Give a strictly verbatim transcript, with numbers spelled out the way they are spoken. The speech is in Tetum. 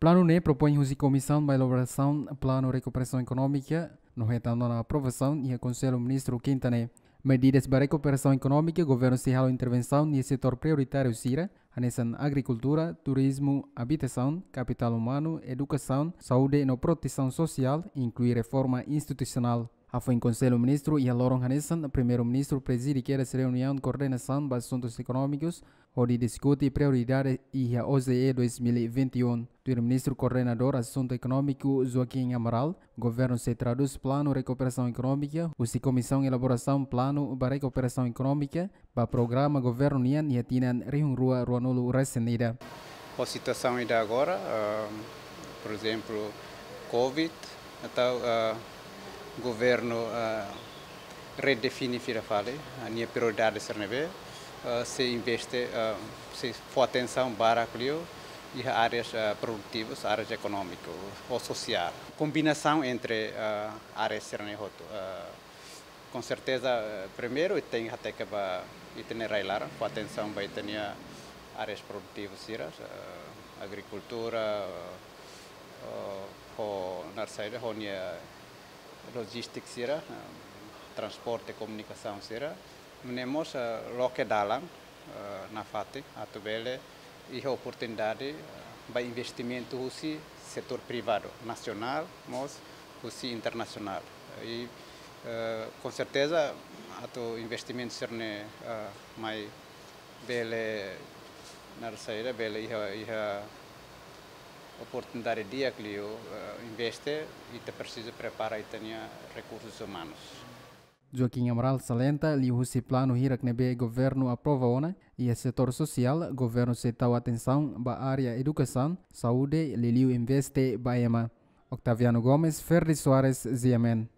Planu ne'e propoin husi Komisaun ba Elaborasaun Planu Rekuperasaun Ekonómika no hetan ona aprovasaun iha Konsellu Ministru kinta ne'e. Medidas ba rekuperasaun ekonómika, governu sei halo intervensaun iha setór prioritáriu sira, hanesan agrikultura, turizmu, abitasaun, kapitál umanu, edukasaun, saúde no protesaun sosiál, inklui reforma institusionál. Hafoin Konsellu Ministru iha loron hanesan, Primeiru-Ministru prezide kedas reuniaun koordenasaun ba asuntus ekonómikus, hodi diskute prioridade iha O J E dois mil e vinte e um. Tuir Ministru Koordenadór Asuntu Ekonómiku Joaquim Amaral, governu sei tradús planu rekuperasaun ekonómika husi Komisaun Elaborasaun Planu ba Rekuperasaun Ekonómika ba programa governu nian iha tinan rihun rua ruanulu resin ida. Ho situasaun ida agora, ah, por ezemplu, covid, entaun, ah, governu, ah, redefine fila fali, ah, nia prioridade sira ne'ebé, ah, sei investe, ah, sei fó atensaun barak liu iha áreas, ah, produtivas, áreas ekonómiku ou sosiál. Kombinasaun entre, ah, áreas sira ne'e hotu. Ah, com certeza, eh, primeiru, ita tenke hateke ba ita-nia rai-laran, fó atensaun ba ita-nia áreas produtivas sira, eh, agrikultura, eh, ho naran saida, ho nia lojístika sira, eh, transporte, komunikasaun sira. Nune'e mós, eh, loke dalan, eh, nafatin, atu bele iha oportunidade, eh, ba investimentu husi setór privadu, nasionál, mós husi internasionál. I, eh, com certeza, atu investimentu sira ne'e, eh, mai bele, naran saida, bele iha, iha oportunidade di'ak liu, eh, investe, ita presiza prepara ita-nia rekursus umanus. Joaquim Amaral salienta, liuhusi planu hirak ne'ebé governu aprova ona iha setór sosiál, governu sei tau atensaun ba área edukasaun, saúde, liuliu investe ba ema. Octaviano Gomes, Ferdi Soares, G M N.